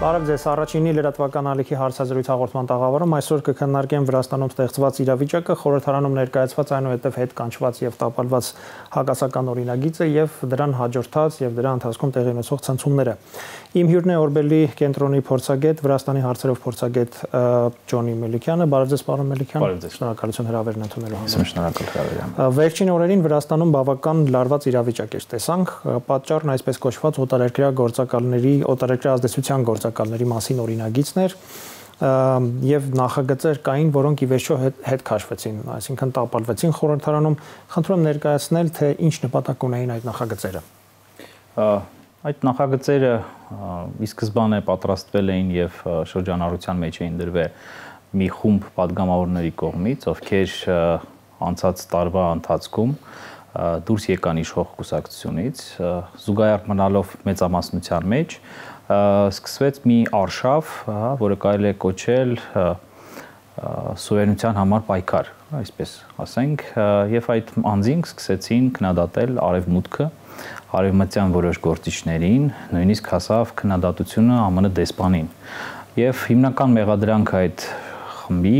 Բարև ձեզ, առաջինի լրատվական ալիքի հարցազրույց հաղորդման տաղավարում այսօր կքննարկենք Վրաստանում ստեղծված իրավիճակը, խորհրդարանում ներկայացված այնուհետև հետ կանչված եւ տապալված հակասական օրինագիծը եւ դրան հաջորդած եւ դրա ընթացքում տեղի ունեցող ցնցումները։ Իմ հյուրն է Օրբելի կենտրոնի փորձագետ, Վրաստանի հարցերով փորձագետ Ջոնի Մելիքյանը։ Բարև ձեզ, պարոն Մելիքյան։ Շնորհակալություն հրավերն ընդունելու համար։ Շնորհակալ հրավերին։ Վերջին օրերին Վրաստանում բավական լարված իրավիճակ էր տեսանք, պատճառն այսպես կոչված օտարերկրյա գործակալների, օտարերկրյա ազդեցության գործակալների մասին օրինագիծներ եւ նախագծեր կային, որոնք ի վերջո հետ քաշվեցին, այսինքն տապալվեցին խորհրդարանում։ Խնդրում եմ ներկայացնել, թե ինչ նպատակ ունեին այդ նախագծերը։ Այդ նախագծերը ի սկզբանե պատրաստվել էին եւ շրջանառության մեջ էին դրվել մի խումբ падգամավորների կողմից, ովքեր անցած տարվա ընթացքում դուրս եկան իշխող կուսակցությունից, զուգահեռ մնալով մեծամասնության մեջ, սկսվեց մի արշավ, որը կարելի է կոչել սուվերենության համար պայքար, այսպես ասենք, եւ այդ անձինք սկսեցին քննադատել արևմուտքը, արևմտյան որոշ գործիչներին, նույնիսկ հասավ քննադատությունը ԱՄՆ դեսպանին։ Եվ հիմնական մեղադրանքը այդ խմբի,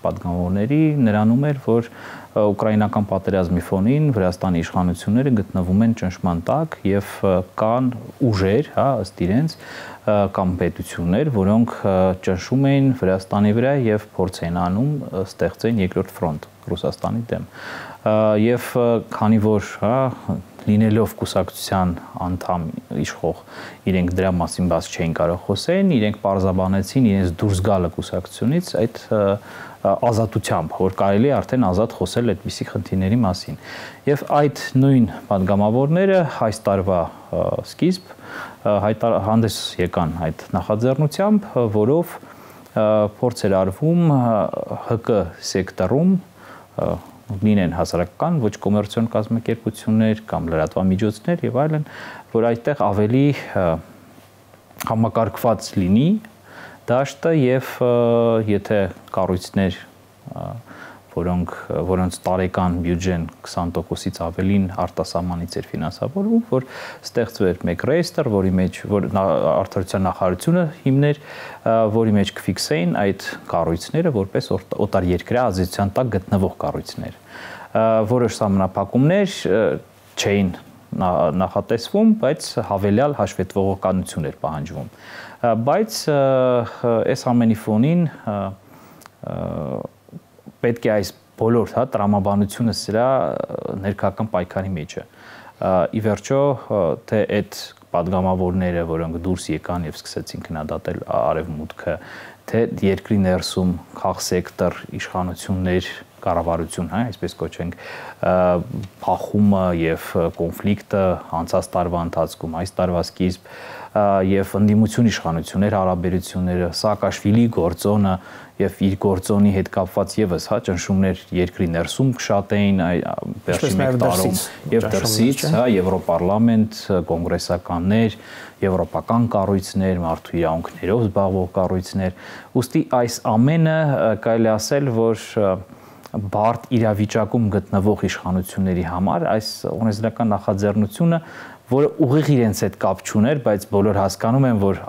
падգամավորների նրանում էր, որ ուկրաինական պատերազմի ֆոնին Վրաստանի իշխանությունները գտնվում են ճնշման տակ եւ կան ուժեր, ըստ իրենց, կամ պետություններ, որոնք ճնշում էին Վրաստանի վրա եւ փորձ էին անում ստեղծեն երկրորդ ֆրոնտ Ռուսաստանի դեմ։ Եվ քանի որ լինելով կուսակցության անդամ իշխող, իրենք դրա մասին բաց չէին կարող խոսեն, իրենք պարզաբանեցին իրենց դուրս գալը կուսակցությունից այդ ազատությամբ, որ կարելի է արդեն ազատ խոսել այդպիսի խնդիրների մասին։ Եվ այդ նույն падգամավորները այս տարվա սկիզբ հանդես եկան այդ նախաձեռնությամբ, որով փորձ էր արվում ՀԿ սեկտորում լինեն հասարակական, ոչ կոմերցիոն կազմակերպություններ կամ լրատվամիջոցներ եւ այլն, որ այդտեղ ավելի համակարգված լինի դաշտը եւ եթե կառույցներ, որոնց տարեկան բյուջեն 20%-ից ավելին արտասահմանից էր ֆինանսավորվում, որ ստեղծվեր մեկ ռեյստր, որի մեջ որ արդարության նախարարությունը հիմներ, որի մեջ կֆիքսեին այդ կառույցները որպես օտարերկրյա ազդեցության տակ գտնվող կառույցներ։ Որոշ սահմանափակումներ չէին նախատեսվում, բայց հավելյալ հաշվետվողականություն էր պահանջվում։ Բայց այս ամենի ֆոնին պետք է այս բոլոր տրամաբանությունը սրա ներքական պայքարի մեջ է։ Ի վերջո, թե այդ падգամավորները, որոնք դուրս եկան եւ սկսեցին քննադատել արևմուտքը, թե երկրի ներսում քաղաքսեկտոր իշխանություններ կառավարություն, այսպես կոչենք, փախումը եւ կոնֆլիկտը անցած տարվա ընթացքում, այս տարվա սկիզբ եւ ընդդիմություն իշխանություններ հարաբերությունները, Սաակաշվիլի գործոնը եւ իր գործոնի հետ կապված եւս ճնշումներ երկրի ներսում շատ էին վերջին մեկ տարում եւ դրսից, Եվրոպարլամենտ, կոնգրեսականներ, եվրոպական կառույցներ, մարդու իրավունքներով զբաղվող կառույցներ, ուստի այս ամենը կարելի ասել, որ բարդ իրավիճակում գտնվող իշխանությունների համար այս օրենսդրական նախաձեռնությունը, որը ուղիղ իրենց հետ կապ չուներ, բայց բոլոր հասկանում են, որ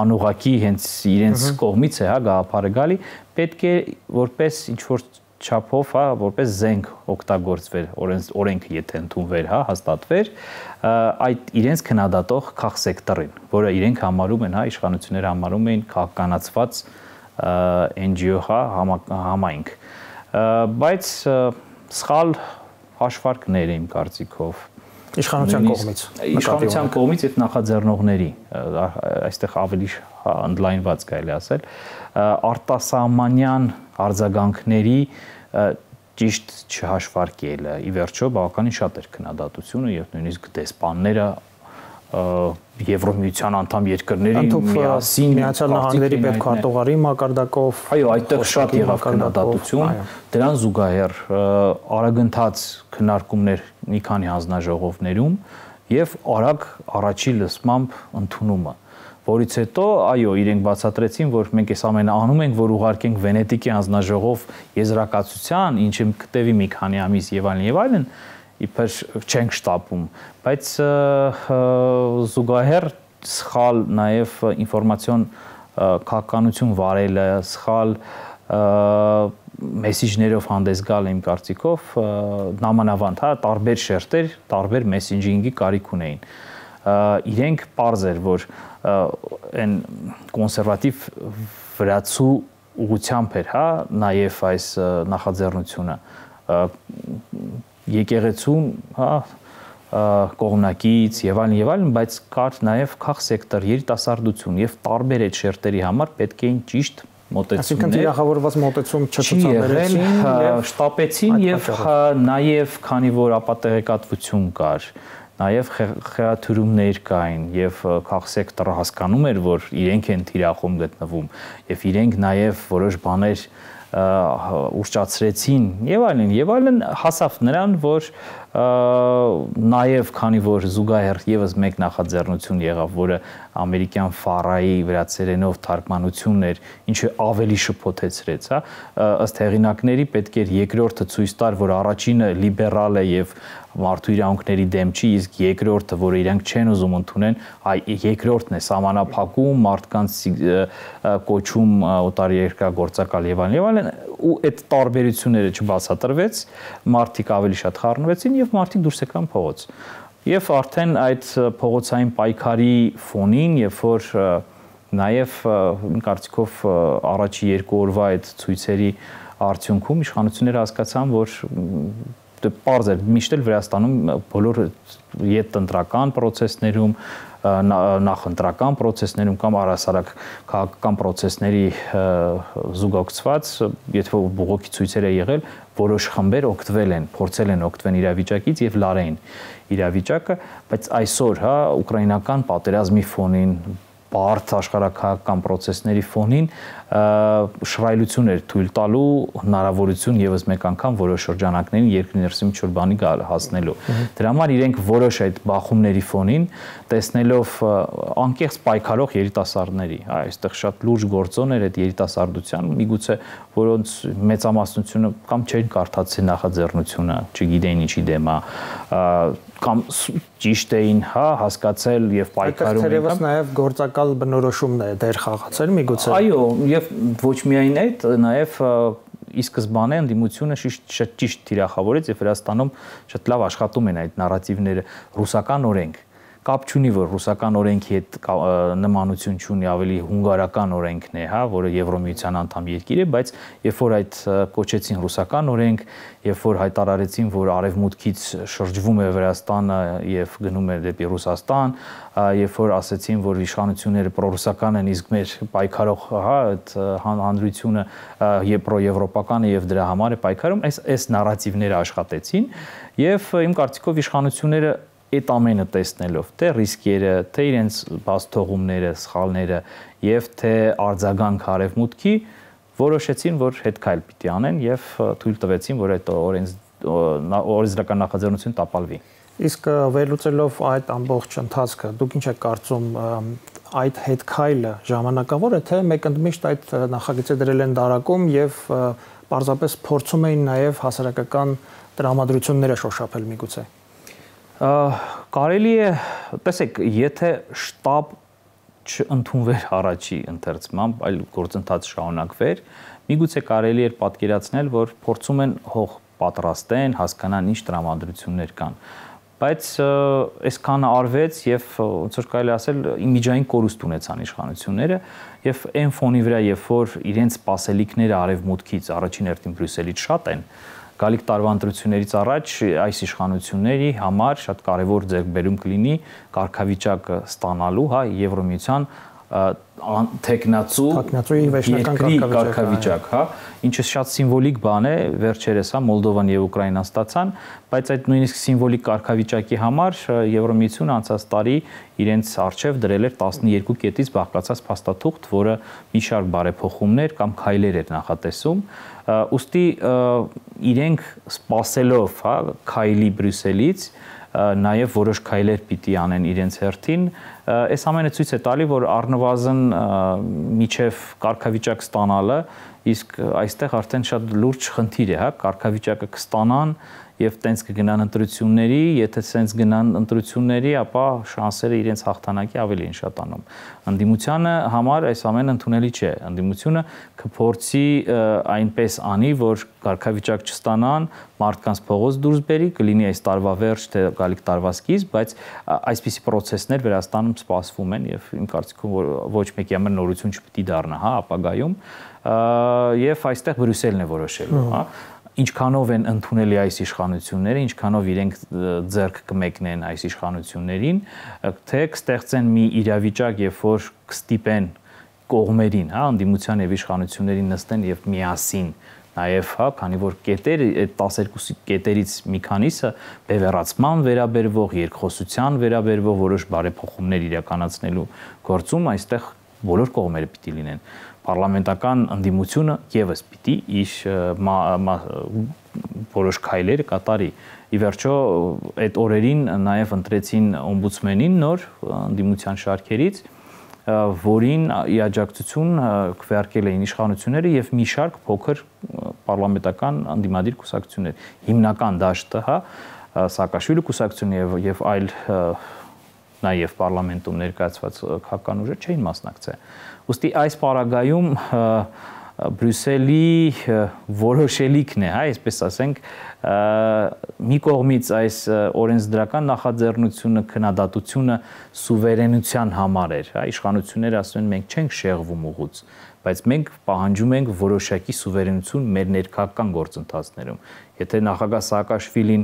անուղղակի հենց իրենց կողմից է, գաղափարը գալի, պետք է որպես ինչ-որ չափով, որպես զենք օգտագործվեր, օրենքը եթե ընդունվեր, հաստատվեր, այդ իրենց քննադատող քաղաքսեկտորին, որը իրենք համարում են, իշխանությունները համարում էին քաղաքականացված NGO համայնք։ Բայց սխալ հաշվարկներ իմ կարծիքով իշխանության կողմից եւ նախաձեռնողների, այստեղ ավելի ընդլայնված կարելի ասել, արտասահմանյան արձագանքների ճիշտ չհաշվարկելը, ի վերջո բավականին շատ էր քննադատությունը եւ նույնիսկ դեսպանները Եվրոմիության անդամ երկրների միասին Միացյալ Նահանգների պետքարտուղարի մակարդակով, այո, այդտեղ շատ եղավ քննադատություն, դրան զուգահեռ արագընթաց քննարկումներ մի քանի հանձնաժողովներում եւ արագ առաջի լսմամբ ընդունումը, որից հետո, այո, իրենք բացատրեցին, որ մենք այս ամենը անում ենք, որ ուղարկենք Վենետիկի հանձնաժողով եզրակացության, ինչը կտևի մի քանի ամիս եւ այլն, իբր չենք շտապում, բայց զուգահեռ սխալ նաև ինֆորմացիոն քաղաքականություն վարելը, սխալ մեսիջներով հանդես գալ իմ կարծիքով նամանավանդ, հա, տարբեր շերտեր, տարբեր մեսենջինգի կարիք ունեին։ Իրենք պարզ էր, որ այն կոնսերվատիվ վրացու ուղղությամբ էր, հա, նաև այս նախաձեռնությունը եկեղեցուն, հա, կողմնակից եւ այլն, բայց կար նաև քաղ սեկտոր, երիտասարդություն եւ տարբեր այդ շերտերի համար պետք էին ճիշտ մոտեցումներ։ Այսինքն թիրախավորված մոտեցում չցուցաբերեցին, շտապեցին եւ նաև քանի որ ապատեղեկատվություն կար, նաև խեղաթյուրումներ կային եւ քաղ սեկտորը հասկանում էր, որ իրենք են թիրախում գտնվում եւ իրենք նաև որոշ բաներ ուշճացրեցին եւ այլն հասավ նրան, որ նաև քանի որ զուգահեռ եւս մեկ նախաձեռնություն եղավ, որը ամերիկյան ֆարայի վրացերենով թարգմանությունն էր, ինչը ավելի շփոթեցրեց, հա, ըստ հեղինակների պետք էր երկրորդը ցույց տար, որ առաջինը լիբերալ է եւ մարդու իրավունքների դեմ չի, իսկ երկրորդը, որը իրանք չեն ուզում ընդունեն, երկրորդն է սահմանափակում, մարդկանց կոչում օտարերկրագործակալ եւ այլն, ու այդ տարբերությունները չբացատրվեց, մարդիկ ավելի շատ խառնվեցին եւ մարդիկ դուրս եկան փողոց։ Եվ արդեն այդ փողոցային պայքարի ֆոնին, երբ որ նաեւ իմ կարծիքով առաջի 2 օրվա այդ ցույցերի արդյունքում իշխանությունները հասկացան, որ պարզ էր, միշտ էլ Վրաստանում բոլոր յետընտրական պրոցեսներում, նախընտրական պրոցեսներում կամ առհասարակ քաղաքական պրոցեսների զուգակցված, եթե բողոքի ցույցեր է եղել, որոշ խմբեր օգտվել են, փորձել են օգտվել իրավիճակից եւ լարեին իրավիճակը, բայց այսօր, հա, ուկրաինական պատերազմի ֆոնին, բարդ աշխարհակահաղական պրոցեսների ֆոնին շռայլություն էր թույլ տալու հնարավորություն եւս մեկ անգամ որոշ շրջանակներին երկրի ներսում ինչ-որ բանի հասնելու։ Դրա համար իրենք որոշ այդ բախումների ֆոնին տեսնելով անկեղծ պայքարող երիտասարդների, այստեղ շատ լուրջ գործոն էր այդ երիտասարդության, միգուցե որոնց մեծամասնությունը կամ չէին կարդացել նախաձեռնությունը, չգիտեին ինչի դեմ է, կամ ճիշտ էին, հա, հասկացել եւ պայքարում են։ Այդտեղից նաև գործակալ բնորոշումն է դեր խաղացել միգուցե։ Այո, եւ ոչ միայն այդ, նաև ի սկզբանե ընդդիմությունը շատ ճիշտ թիրախավորեց եւ Վրաստանում շատ լավ աշխատում են այդ նարատիվները, ռուսական օրենք։ Կապ չունի, որ ռուսական օրենքի հետ նմանություն չունի, ավելի հունգարական օրենքն է, հա, որը Եվրոմիության անդամ երկիր է, բայց երբ որ այդ կոչեցին ռուսական օրենք, երբ որ հայտարարեցին, որ արևմուտքից շրջվում է Վրաստանը եւ գնում է դեպի Ռուսաստան, երբ որ ասեցին, որ իշխանությունները պրոռուսական են, իսկ մեր պայքարող, հա, այդ հանրությունը պրոեվրոպական է եւ դրա համար է պայքարում, այս նարատիվները աշխատեցին եւ իմ կարծիքով իշխանությունները այդ ամենը տեսնելով, թե ռիսկերը, թե իրենց բացթողումները, սխալները եւ թե արձագանք արևմուտքի որոշեցին, որ հետքայլ պիտի անեն եւ թույլ տվեցին, որ այդ օրենսդրական նախաձեռնությունը տապալվի։ Իսկ վերլուծելով այդ ամբողջ ընթացքը, դուք ինչ եք կարծում, այդ հետքայլը ժամանակավոր է, թե մեկընդմիշտ այդ նախագիծը դրել են դարակում եւ պարզապես փորձում էին նաեւ հասարակական տրամադրությունները շոշափել միգուցե։ Կարելի է, տեսեք, եթե շտաբ չընդունվեր առաջի ընթերցմամբ, այլ գործընթաց շարունակվեր, միգուցե կարելի էր պատկերացնել, որ փորձում են հող պատրաստեն, հասկանան ինչ տրամադրություններ կան։ Բայց այսքանը արվեց եւ ոնց որ կարելի ասել իմիջային կորուստ ունեցան իշխանությունները եւ այն ֆոնի վրա, երբ որ իրենց սպասելիքները արևմուտքից առաջին հերթին Բրյուսելից շատ են, գալիք տարվա ընտրություններից առաջ այս իշխանությունների համար շատ կարևոր ձեռքբերում կլինի կարգավիճակը ստանալու, հա, Եվրոմիության թեկնածուի վերջնական կարգավիճակ, հա, ինչը շատ սիմվոլիկ բան է, վերջերս, հա, Մոլդովան եւ Ուկրաինան ստացան, բայց այդ նույնիսկ սիմվոլիկ կարգավիճակի համար Եվրոմիությունը անցած տարի իրենց արժեվ դրել էր 12 կետից բաղկացած փաստաթուղթ, որը մի շարք բարեփոխումներ կամ քայլեր էր նախատեսում, ուստի իրենք սпасելով, հա, քայլի Բրյուսելից նաև որոշ քայլեր պիտի անեն իրենց հերթին, այս ամենը ցույց է տալի, որ առնվազն միջև կարգավիճակ ստանալը, իսկ այստեղ արդեն շատ լուրջ խնդիր է, հա, կարգավիճակը կստանան եւ տենց կգնան ընտրությունների, եթե սենց գնան ընտրությունների, ապա շանսերը իրենց հաղթանակի ավելի են շատանում։ Ընդդիմությանը համար այս ամենը ընդունելի չէ։ Ընդդիմությունը կփորձի այնպես անի, որ կարգավիճակ չստանան, մարդկանց փողոց դուրս բերի, կլինի այս տարվա վերջ, թե գալիք տարվա սկիզբ, բայց այսպիսի process-ներ Վրաստանում սպասվում են եւ իմ կարծիքով ոչ մեկի համար նորություն չպիտի դառնա, հա, ապագայում, եւ այստեղ Բրյուսելն է որոշելու, հա, ինչքանով են ընդունելի այս իշխանությունները, ինչքանով իրենք ձեռք կմեկնեն այս իշխանություններին, թե կստեղծեն մի իրավիճակ, երբ որ կստիպեն կողմերին, հա, ընդդիմության եւ իշխանություններին նստեն եւ միասին նաև, հա, քանի որ կետեր այդ 12 կետերից մի քանիսը բևեռացման վերաբերվող, երկխոսության վերաբերվող որոշ բարեփոխումներ իրականացնելու գործում այստեղ բոլոր կողմերը պիտի լինեն։ Պարլամենտական ընդդիմությունը եւս պիտի իր որոշ քայլեր կատարի։ Ի վերջո այդ օրերին նաև ընտրեցին օմբուդսմենին նոր ընդդիմության շարքերից, որին ի աջակցություն քվեարկել էին իշխանությունները եւ մի շարք փոքր պարլամենտական ընդդիմադիր կուսակցություններ, հիմնական դաշտը, հա, Սաակաշվիլի կուսակցությունը եւ այլ նաեւ պարլամենտում ներկայացված քաղաքական ուժեր չէին մասնակցել։ Ուստի այս պարագայում Բրյուսելի որոշելիքն է, հա, այսպես ասենք, մի կողմից այս օրենսդրական նախաձեռնությունը, քննադատությունը սուվերենության համար էր, հա, իշխանությունները ասում են մենք չենք շեղվում ուղուց, բայց մենք պահանջում ենք որոշակի սուվերենություն մեր ներքաղաքական գործընթացներում։ Եթե նախագահ Սաակաշվիլին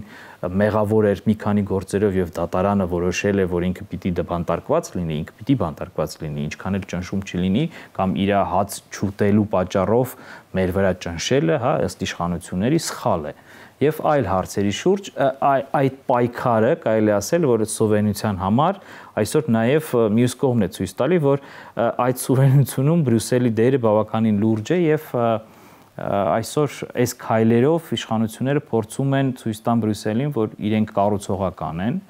մեղավոր էր մի քանի գործերով եւ դատարանը որոշել է, որ ինքը պիտի բանտարկված լինի, ինքը պիտի բանտարկված լինի, ինչքան էլ ճնշում չլինի, կամ իր հաց չուտելու պատճառով մեր վրա ճնշելը, հա, ըստ իշխանությունների սխալ է։ Եվ այլ հարցերի շուրջ այդ պայքարը կարելի ասել, որ սուվերենության համար այսօր նաև մյուս կողմն է ցույց տալի, որ այդ սուվերենությունում Բրյուսելի դերը բավականին լուրջ է եւ այսօր այս քայլերով իշխանությունները փորձում են ցույց տան Բրյուսելին, որ իրենք կառուցողական են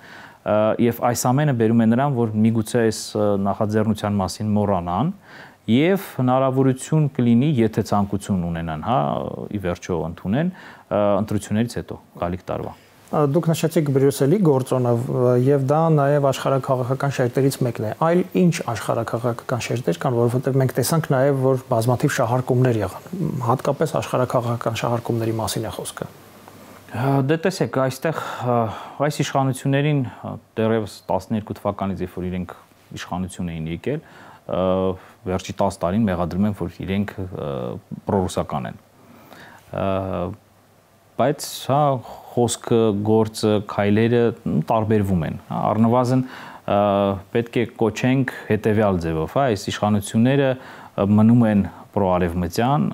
եւ այս ամենը բերում է նրան, որ միգուցե այս նախաձեռնության մասին մոռանան եւ հնարավորություն կլինի, եթե ցանկություն ունենան, հա, ի վերջո ընդունեն ընտրություններից հետո գալիք տարվա։ Դուք նշեցիք Բրյուսելի գործոնը եւ դա նաեւ աշխարհաքաղաքական շերտերից մեկն է։ Այլ ինչ աշխարհաքաղաքական շերտեր կան, որովհետեւ մենք տեսանք նաեւ, որ բազմաթիվ շահարկումներ եղան, հատկապես աշխարհաքաղաքական շահարկումների մասին է խոսքը։ Դե տեսեք, այստեղ այս իշխանություններին դեռևս 12 թվականից, երբ որ իրենք իշխանություն էին եկել, վերջի 10 տարին մեղադրում են, որ իրենք պրոռուսական են։ Բայց հա խոսքը, գործը, քայլերը տարբերվում են։ Առնվազն պետք է կոչենք հետևյալ ձևով, հա, այս իշխանությունները մնում են պրոարևմտյան,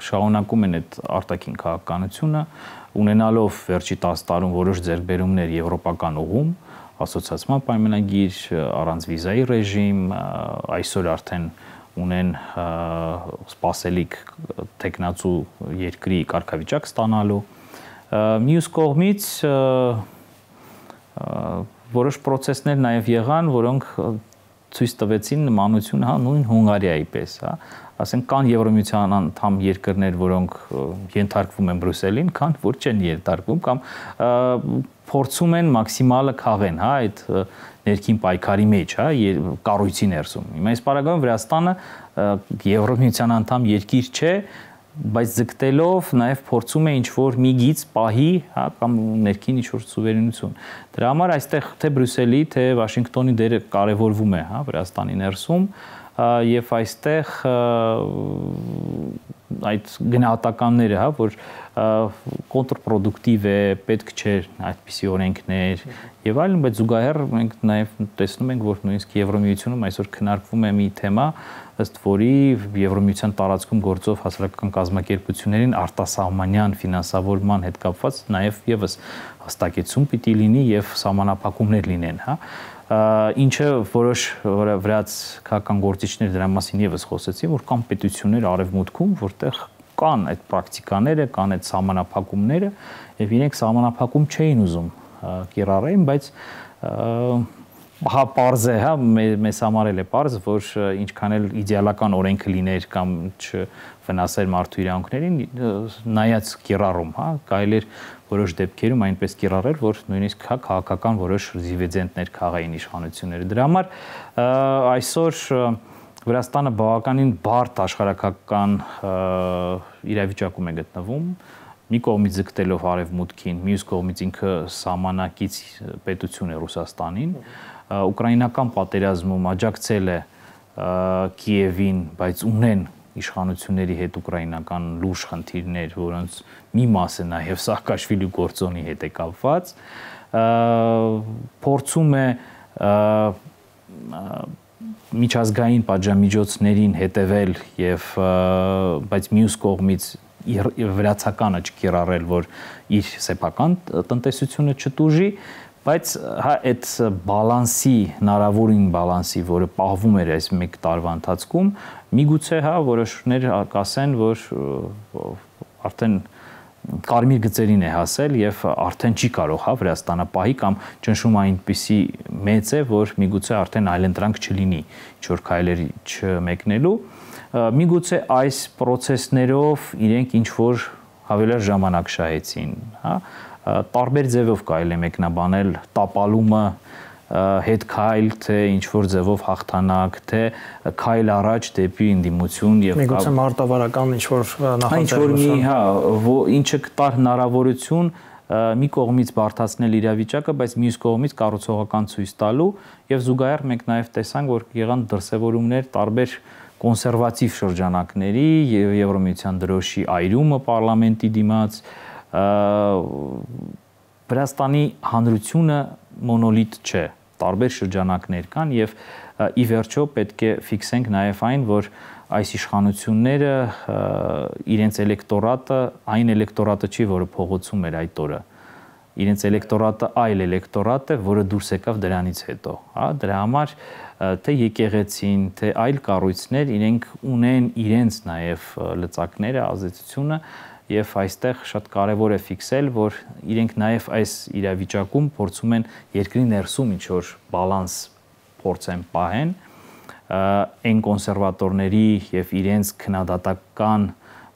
շարունակում են այդ արտաքին քաղաքականությունը, ունենալով վերջի 10 տարում որոշ ձեռքբերումներ եվրոպական ուղում, ասոցիացիան պայմանագիր, առանց վիզայի ռեժիմ, այսօր արդեն ունեն սպասելիք տեխնացու երկրի կարգավիճակ ստանալու։ Մյուս կողմից որոշ process-ներ նաև եղան, որոնք ցույց տվեցին նմանություն, հա, նույն Հունգարիայի պես, հա, ասենք կան Եվրոմիության անդամ երկրներ, որոնք ենթարկվում են Բրյուսելին, կան որ չեն ենթարկվում կամ փորձում են մաքսիմալը քաղեն, հա, այդ ներքին պայքարի մեջ, հա, կառույցի ներսում։ Հիմա այս պարագայում Վրաստանը Եվրոմիության անդամ երկիր չէ, բայց ձգտելով նաև փորձում է ինչ-որ մի գիծ պահի, հա, կամ ներքին ինչ-որ սուվերենություն։ Դրա համար այստեղ թե Բրյուսելի, թե Վաշինգտոնի դերը կարևորվում է, հա, Վրաստանի ներսում, եւ այստեղ այդ գնահատականները, հա, որ կոնտրպրոդուկտիվ է, պետք չէ այդպիսի օրենքներ եւ այլն, բայց զուգահեռ մենք նաեւ տեսնում ենք, որ նույնիսկ Եվրոմիությունում այսօր քննարկվում է մի թեմա, ըստ որի Եվրոմիության տարածքում գործող հասարակական կազմակերպություններին արտասահմանյան ֆինանսավորման հետ կապված նաեւ եւս հստակեցում պիտի լինի եւ սահմանափակումներ լինեն, հա, ինչը որոշ վրաց քաղաքական գործիչներ դրա մասին եւս խոսեցին, որ կան պետություններ արևմուտքում, որտեղ կան այդ պրակտիկաները, կան այդ սահմանափակումները եւ իրենք սահմանափակում չէին ուզում կիրառեն, բայց Հա պարզ է, հա, մեզ համար էլ է պարզ, որ ինչքան էլ իդեալական օրենքը լիներ կամ չվնասեր մարդու իրավունքներին, նայած կիրառում, հա, կարելի էր որոշ դեպքերում այնպես կիրառել, որ նույնիսկ քաղաքական որոշ դիվիդենդներ քաղային իշխանությունները։ Դրա համար այսօր Վրաստանը բավականին բարդ աշխարհակական իրավիճակում է գտնվում, մի կողմից ձգտելով արևմուտքին, մյուս կողմից ինքը սահմանակից պետություն է Ռուսաստանին, ուկրաինական պատերազմում աջակցել է Կիևին, բայց ունեն իշխանությունների հետ ուկրաինական լուրջ խնդիրներ, որոնց մի մասը նաև Սաակաշվիլի գործոնի հետ է կապված, փորձում է միջազգային պատժամիջոցներին հետևել եւ բայց մյուս կողմից վրացականը չկիրառել, որ իր սեփական տնտեսությունը չտուժի, բայց հա այդ բալանսի, հնարավորին բալանսի, որը պահվում էր այս 1 տարվա ընթացքում, միգուցե հա որոշներ կասեն, որ արդեն կարմիր գծերին է հասել եւ արդեն չի կարող հա Վրաստանը պահի կամ ճնշումը այնպիսի մեծ է, որ միգուցե արդեն այլընտրանք չլինի ինչ որ քայլերի չմեկնելու, միգուցե այս process-ներով իրենք ինչ որ հավելյալ ժամանակ շահեցին, հա, տարբեր ձևով կարելի է մեկնաբանել տապալումը, հետ քայլ, թե ինչ որ ձևով հաղթանակ, թե քայլ առաջ դեպի ընդդիմություն եւ միգուցե մարտավարական ինչ որ նախաձեռնություն, հա, ինչը կտար հնարավորություն մի կողմից բարդացնել իրավիճակը, բայց մյուս կողմից կառուցողական ցույց տալու եւ զուգահեռ մենք նաեւ տեսանք, որ եղան դրսևորումներ տարբեր կոնսերվատիվ շրջանակների եւ Եվրոմիության դրոշի այրումը պարլամենտի դիմաց, Վրաստանի հանրությունը մոնոլիտ չէ, տարբեր շրջանակներ կան եւ ի վերջո պետք է ֆիքսենք նաեւ այն, որ այս իշխանությունները իրենց էլեկտորատը, այն էլեկտորատը չի, որը փողոցում էր այդ օրը, իրենց էլեկտորատը այլ էլեկտորատ է, որը դուրս եկավ դրանից հետո, հա, դրա համար թե եկեղեցին, թե այլ կառույցներ իրենք ունեն իրենց նաեւ լծակները, ազդեցությունը եւ այստեղ շատ կարեւոր է ֆիքսել, որ իրենք նաեւ այս իրավիճակում փորձում են երկրի ներսում ինչ որ բալանս փորձեն պահեն, այն կոնսերվատորների եւ իրենց քննադատական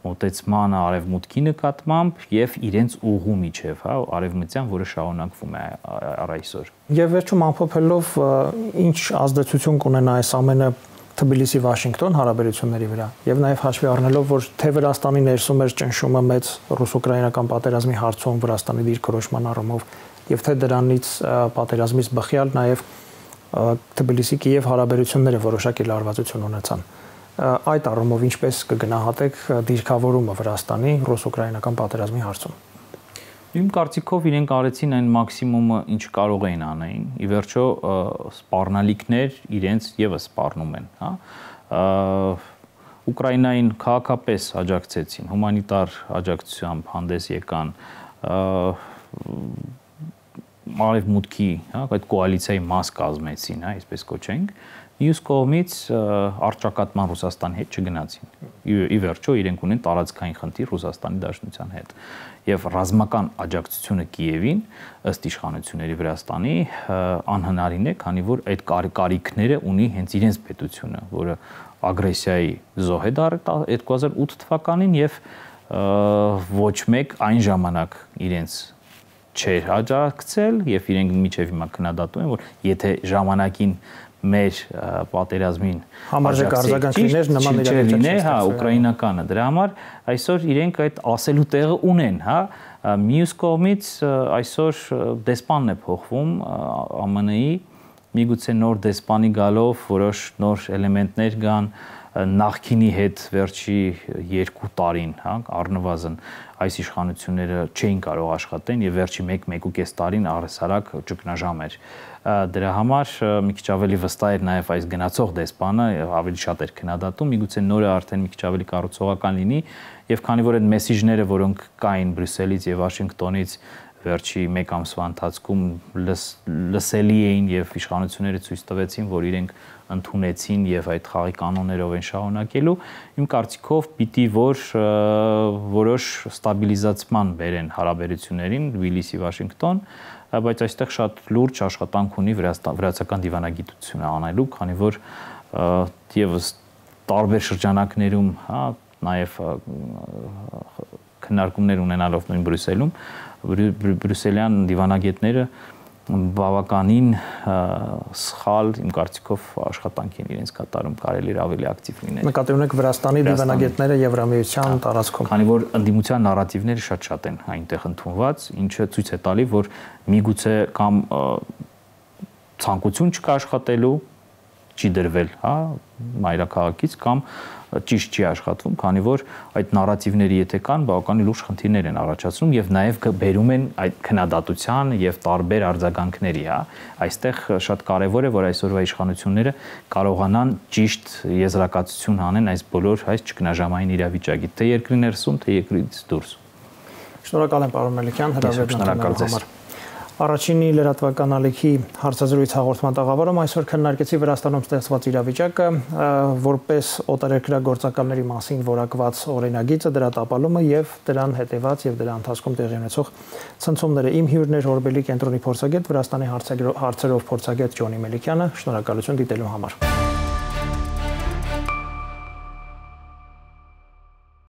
մոտեցմանը արևմուտքի նկատմամբ եւ իրենց ուղու միջև, հա, արևմտյան, որը շարունակվում է առ այսօր։ Եվ վերջում ամփոփելով ինչ ազդեցություն կունենա այս ամենը Թբիլիսի-Վաշինգտոն հարաբերությունների վրա եւ նաեւ հաշվի առնելով, որ թե Վրաստանի ներսում էր ճնշումը մեծ ռուս-ուկրաինական պատերազմի հարցում Վրաստանի դիրքորոշման առումով եւ թե դրանից պատերազմից բխյալ նաեւ Թբիլիսի-Կիև հարաբերությունները որոշակի լարվածություն ունեցան։ Այդ առումով ինչպես կգնահատեք դիրքավորումը Վրաստանի ռուս-ուկրաինական պատերազմի հարցում։ Իմ կարծիքով իրենք արեցին այն մաքսիմումը, ինչ կարող էին անեին։ Ի վերջո սպառնալիքներ իրենց եւս սպառնում են, հա։ Ուկրաինային քաղաքապես աջակցեցին, հումանիտար աջակցությամբ հանդես եկան, արևմուտքի, հա, այդ կոալիցիայի մաս կազմեցին, հա, այսպես կոչենք։ Մյուս կողմից առճակատման Ռուսաստանի հետ չգնացին։ Ի վերջո իրենք ունեն տարածքային խնդիր Ռուսաստանի Դաշնության հետ։ Եվ ռազմական աջակցությունը Կիևին ըստ իշխանությունների Վրաստանի անհնարին է, քանի որ այդ կարիքները ունի հենց իրենց պետությունը, որը ագրեսիայի զոհ է դարձել 2008 թվականին եւ ոչ մեկ այն ժամանակ իրենց չէր աջակցել եւ իրենք միջև հիմա քննադատում են, որ եթե ժամանակին մեր պատերազմին համարժեք արձագանքներ նման իրավիճակներ, հա, ուկրաինականը, դրա համար այսօր իրենք այդ ասելու տեղը ունեն, հա, մյուս կողմից այսօր դեսպանն է փոխվում ԱՄՆ-ի, միգուցե նոր դեսպանի գալով որոշ նոր էլեմենտներ կան նախքինի հետ վերջի 2 տարին, հա, առնվազն այս իշխանությունները չէին կարող աշխատեն եւ վերջի 1-1.5 տարին առհասարակ ճգնաժամ էր։ Դրա համար մի քիչ ավելի վստահ էր նաեւ այս գնացող դեսպանը, ավելի շատ էր քննադատում, միգուցե նորը արդեն մի քիչ ավելի կառուցողական լինի եւ քանի որ այդ մեսիջները, որոնք կային Բրյուսելից եւ Վաշինգտոնից վերջի 1 ամսվա ընթացքում լսելի էին եւ իշխանությունները ցույց տվեցին, որ իրենք ընդունեցին եւ այդ խաղի կանոններով են շարունակելու, իմ կարծիքով պիտի որ որոշ ստաբիլիզացման բերեն հարաբերություններին Թբիլիսի-Վաշինգտոն, բայց այստեղ շատ լուրջ աշխատանք ունի վրացական դիվանագիտությունը անելու, քանի որ եւս տարբեր շրջանակներում, հա, նաև քննարկումներ ունենալով նույն Բրյուսելում, բրյուսելյան դիվանագետները բավականին սխալ իմ կարծիքով աշխատանք են իրենց կատարում, կարելի է ավելի ակտիվ լինել։ Նկատի ունեք Վրաստանի դիվանագետները Եվրամիության տարածքում։ Քանի որ ընդդիմության նարատիվները շատ են այնտեղ ընդունված, ինչը ցույց է տալի, որ միգուցե կամ ցանկություն չկա աշխատելու, չի դրվել, հա, մայրաքաղաքից կամ ճիշտ չի աշխատվում, քանի որ այդ նարատիվները եթե կան, բավականին լուրջ խնդիրներ են առաջացնում եւ նաեւ բերում են այդ քննադատության եւ տարբեր արձագանքների, հա։ Այստեղ շատ կարեւոր է, որ այսօրվա իշխանությունները կարողանան ճիշտ եզրակացություն անեն այս բոլոր այս ճգնաժամային իրավիճակի, թե երկրի ներսում, թե երկրից դուրս։ Շնորհակալ եմ, պարոն Մելիքյան, հրավերն համար։ Առաջինի լրատվական ալիքի հարցազրույց հաղորդման տաղավարում այսօր քննարկեցի Վրաստանում ստեղծված իրավիճակը, որպես օտարերկրագործականների մասին որակված օրինագիծը, դրա տապալումը եւ դրան հետեւած եւ դրա ընթացքում տեղի ունեցող ցնցումները։ Իմ հյուրն էր Օրբելի կենտրոնի փորձագետ, Վրաստանի հարցերով փորձագետ Ջոնի Մելիքյանը։ Շնորհակալություն դիտելու համար։